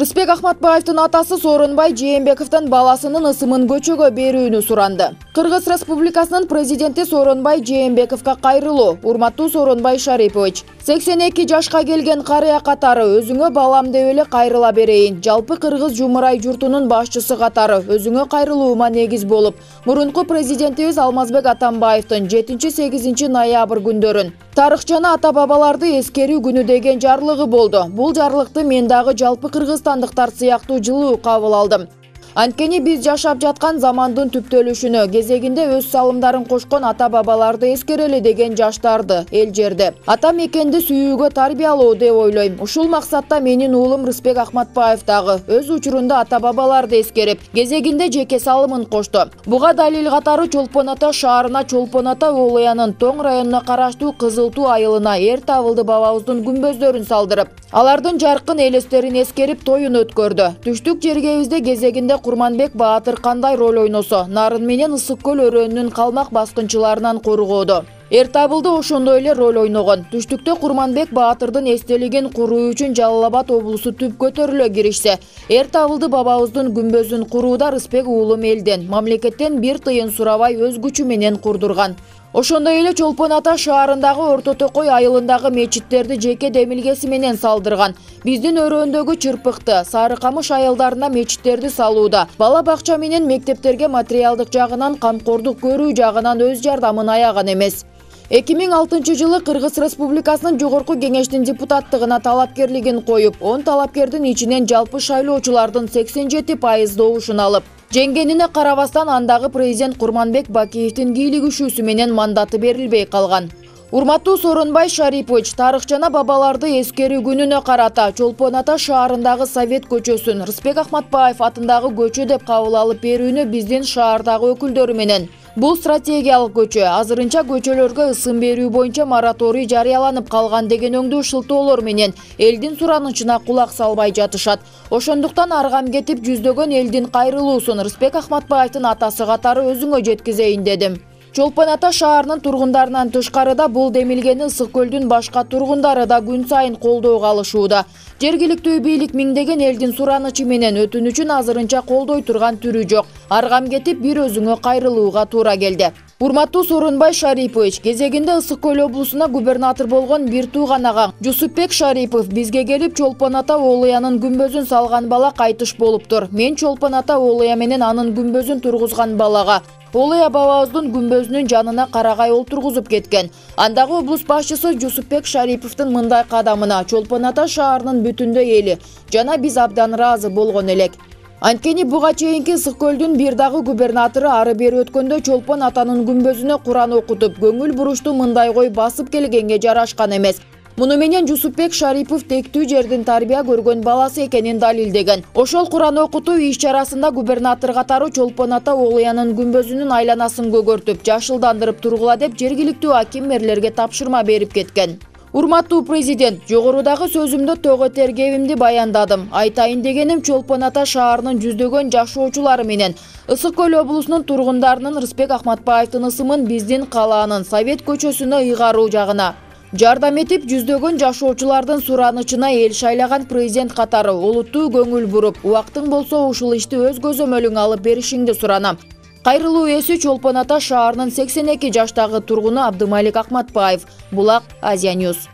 Рыспек Ахматбаевдин атасы Сооронбай Жээнбековдун баласынын ысымын көчөгө берүүнү суранды. Кыргыз Республикасынын президенти Сооронбай Жээнбековго кайрылуу. Урматтуу Сооронбай Шарипович, 82 жашка келген карыя катары өзүңө балам деп эле кайрыла берейин. Жалпы Кыргыз Жумурай журтунун башчысы катары өзүңө кайрылуума негиз болуп, мурунку президентибиз Алмазбек Атамбаевдин 7-8 ноябрь күндөрүн тарыхчаны ата-бабаларды эскерүү күнү деген жарлыгы болду. Бул жарлыкты мен дагы жалпы кыргызстандыктар сыяктуу жылуу кабыл алдым. Анткени биз жашап жаткан замандын түптөлүшүнө кезегинде өз салымдарын кошкон ата-бабаларды эскерели деген жаштарды, эл жерди, ата мекенди сүйүүгө тарбиялоо деп ойлойм. Ушул максатта менин уулум Рыспек Ахматбаев дагы өз учурунда ата-бабаларды эскерип, кезегинде жеке салымын кошту. Буга далил катары Чолпон Ата шаарына Чолпон Ата Оолуянын Тоң районуна караштуу Кызыл Туу айылына эр табылды бабабыздын күмбөздөрүн салдырып, алардын жаркын элестерин эскерип тоюн өткөрдү. Түштүк жергебизде кезегинде Курманбек Баатыр кандай роль ойносо, Нарын менен Ысык көл өрөөнүнүн калмак баскынчыларынан коргоодо. Эр табылды ошондой эле роль ойногон. Түштүктө Курманбек Баатырдын эстелигин куруу үчүн Жалал Абад облусу түп көтөрүлө киришсе, эр табылды бабабыздын күмбөзүн курууда Рыспек уулум элден, мамлекеттен бир тыйын сурабай өз күчү менен курдурган. Ошондой эле Чолпон Ата шаарындагы Орто Токой айылындагы мечиттерди жеке демилгеси менен салдырган. Биздин өрөөндөгү Чырпыкты, Сары Камыш айылдарына мечиттерди салууда, бала бакча менен мектептерге материалдык жагынан, камкордук көрүү жагынан өз жардамын аяган эмес. 2006 жылы Кыргыз Республикасынын Жогорку Кеңештин депутаттыгына талапкерлигин коюп, 10 талапкердин ичинен жалпы шайлоочулардын 87% добушун алып, жеңгенине карабастан андагы президент Курманбек Бакиевдин кийлигишүүсү менен мандаты берилбей калган. Урматтуу Сооронбай Шарипович, тарыхчана бабаларды эскерүү күнүнө карата Чолпон Ата шаарындагы Совет көчөсүн Рыспек Ахматбаев атындагы көчө деп кабыл алып берүүнү биздин шаардагы өкүлдөрү менен. Бул стратегиялык көчө. Азырынча көчөлөргө ысым берүү боюнча мораторий жарыяланып калган деген өңдүү шылтоолор менен элдин суранычына кулак салбай жатышат. Ошондуктан аргам кетип жүздөгөн элдин кайрылуусун Рыспек Ахматбаевдин атасы катары өзүңө жеткизейин дедим. Чолпон Ата шаарынын тургундарынан тышкарыда бул демилгени Ысык көлдүн башка тургундары да күн сайын колдоого алышууда. Жергиликтүү бийлик миңдеген элдин суранычы менен өтүнүчүн азырынча колдой турган түрү жок. Аргам кетип бир өзүңө кайрылууга туура келди. Урматтуу Сооронбай Шарипович, кезегинде Ысык көл облусуна губернатор болгон бир тууган агам Жусупбек Шарипов бизге келип Чолпон Ата Оолуянын күмбөзүн салган бала кайтыш болуптур. Мен Чолпон Ата Оолуя менен анын күмбөзүн тургузган балага Оолуя бабабыздын күмбөзүнүн жанына карагай олтургузуп кеткен. Андагы облус башчысы Жусупбек Шариповдун мындай кадамына Чолпон Ата шаарынын бүтүндөй эли жана биз абдан ыраазы болгон элек. Анткени буга чейинки Ысык көлдүн бир дагы губернатору ары бери өткөндө Чолпон Атанын күмбөзүнө Куран окутуп, көңүл бурушту мындай кой басып келгенге жарашкан эмес. Муну менен Жусупбек Шарипов тектүү жердин тарбия көргөн баласы экенин далилдеген. Ошол Куран окутуу иш-чарасында губернатор катары Чолпон Ата Оолуянын күмбөзүнүн айланасын көгөртүп, жашылдандырып тургула деп жергиликтүү аким мэрлерге тапшырма берип кеткен. Урматтуу президент, жогорудагы сөзүмдө төгө тергебимди баяндадым. Айтайын дегеним Чолпон Ата шаарынын жүздөгөн жашоочулары менен Ысык көл облусунун тургундарынын Рыспек Ахматбаевдин ысымын биздин калаанын Совет көчөсүнө ыйгаруу жагына жардам этип, жүздөгөн жашоочулардын суранычына эл шайлаган президент катары олуттуу көңүл буруп, убактың болсо ушул ишти өз көзөмөлүң алып беришиңди суранам. Кайрылуу ээси Чолпон Ата шаарынын 82 жаштагы тургуну Абдымалик Ахматбаев. Булак, Азия Ньюс.